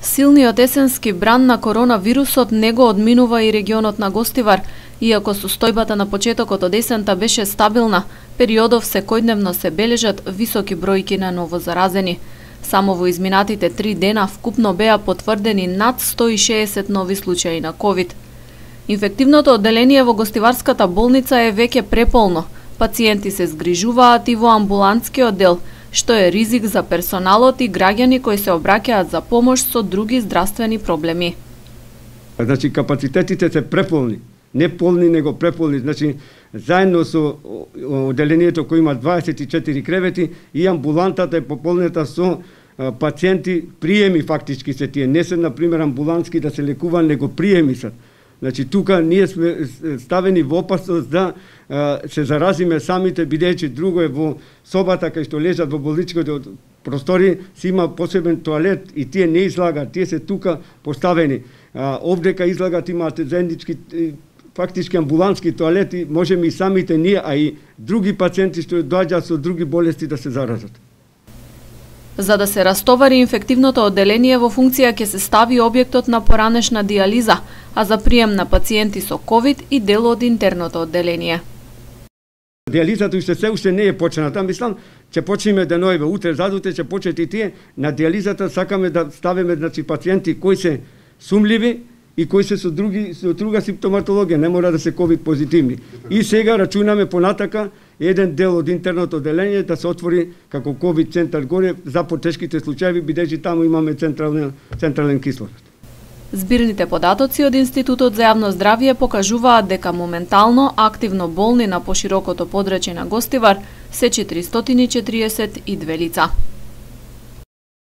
Силниот есенски бран на коронавирусот не го одминува и регионот на Гостивар. Иако состојбата на почетокот од есента беше стабилна, периодов секојдневно се бележат високи бројки на новозаразени. Само во изминатите 3 дена вкупно беа потврдени над 160 нови случаи на ковид. Инфективното одделение во Гостиварската болница е веќе преполно. Пациенти се згрижуваат и во амбулантскиот дел, што е ризик за персоналот и граѓани кои се обраќаат за помош со други здравствени проблеми. Значи капацитетите се преполни, не полни него преполни, значи заедно со одделението кој има 24 кревети и амбулантата е пополнета со пациенти, приеми фактички се тие, не се на пример амбулантски да се лекува, него приеми се. Значи тука ние сме ставени во опасност да се заразиме самите, бидејќи друго е во собата кај што лежат во болничките простори, си има посебен тоалет и тие не излагат, тие се тука поставени. Овдека излагат имаат заеднички фактички амбулантски тоалети, можеме и самите ние, а и други пациенти што доаѓаат со други болести да се заразат. За да се растовари инфективното одделение во функција ќе се стави објектот на поранешна дијализа, а за прием на пациенти со ковид и дел од интерното одделение. Дијализата уште не е почната, мислам, ќе почнеме денојве, утре, задутре ќе почнат и тие. На дијализата сакаме да ставиме значи пациенти кои се сумливи и кои се со друга симптоматологија, не мора да се ковид позитивни. И сега рачунаме понатака еден дел од интерното одделение да се отвори како ковид центар горе за потешките случаи, бидејќи таму имаме централен кислород. Збирните податоци од Институтот за јавно здравје покажуваат дека моментално активно болни на поширокото подрачје на Гостивар се 442 лица.